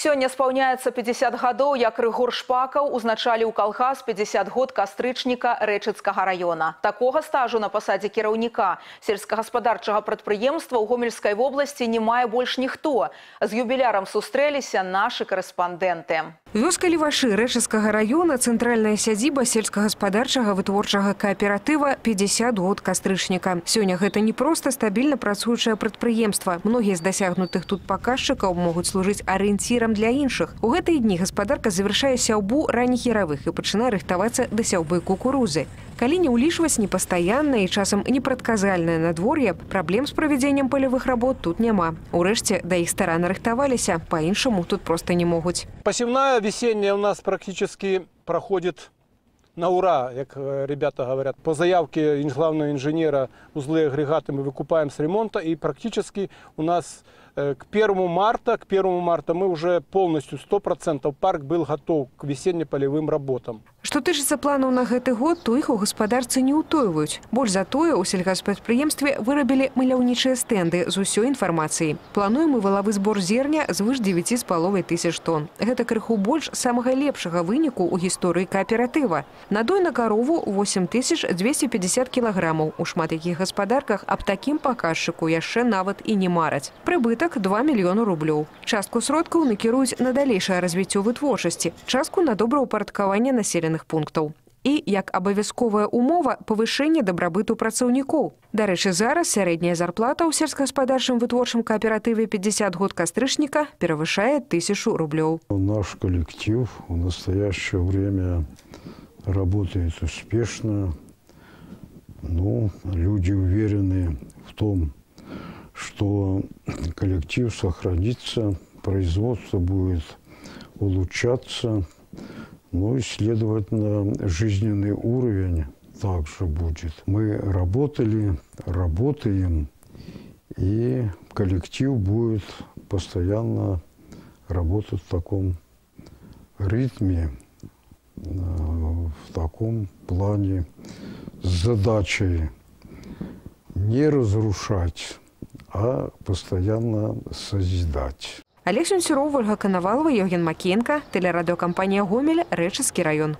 Сёння спаўняецца 50 гадоў, як Рыгор Шпакаў узначаліў калгас 50 год кастрычніка Рэчыцкага района. Такога стажу на пасадзе кіраўніка сельскагаспадарчага прадпрыемства ў Гомельскай вобласці не мае больш ніхто. З юбілярам сустрэліся нашы карэспандэнты. Вёска Левашы Рэчыцкага района – цэнтральная сядзіба сельскагаспадарчага вытворчага кааператыва 50 год кастрычніка. Сёння гэта не проста стабільна працуючае прадпрыемства. Многія з дасягнутых тут паказчыкаў могуць служыць арыенцірам для іншых. У гэтыя дні гаспадарка завяршае сяўбу ранніх яравых і пачынае рыхтавацца да сяўбы кукурузы. Калі не ўлічваць непастаяннае і часам непрадказальнае надвор'е, праблем з правядзеннем палявых работ тут няма. Урэшце, да іх старанна рыхтаваліся, па-іншаму тут проста не могуць. Посевная весенняя у нас практически проходит на ура, как ребята говорят. По заявке главного инженера узлы агрегаты мы выкупаем с ремонта, и практически у нас к 1 марта мы уже полностью 100% парк был готов к весенне-полевым работам. Што тычыцца планаў на гэты год, то іх у гаспадарцы не ўтойваюць. Больш за тое, у сельгаспрадпрыемстве вырабілі маляўнічыя стэнды з усёй інфармацыяй. Плануем і валавы збор зерня звыш 9,5 тысяч тонн. Гэта крыху больш самага лепшага выніку ў гісторыі кааператыва. Надой на карову 8250 кілаграмаў. У шмат якіх гаспадарках аб такім паказчыку яшчэ нават і не мараць. Прыбытак 2 мільёны рублёў. Частку сродкаў накіруюць на далейшае развіццё вытворчасці, частку на добраўпарадкаванне населеных пунктаў. І, як абавязковая умова, павышэнне дабрабыту працаўнікоў. Дарэчы, зараз сярэдняя зарплата ў сельскагаспадарчым вытворчым кааператыве 50 год кастрычніка перавышае 1000 рублёў. Наш коллектив в настоящее время работает успешно. Люди уверены в том, что коллектив сохранится, производство будет улучшаться. И, следовательно, жизненный уровень также будет. Мы работали, работаем, и коллектив будет постоянно работать в таком ритме, в таком плане, с задачей не разрушать, а постоянно созидать. Олег Сюнсюров, Ольга Коновалова, Евген Макеенко, телерадиокомпания «Гомель», Рэчыцкі район.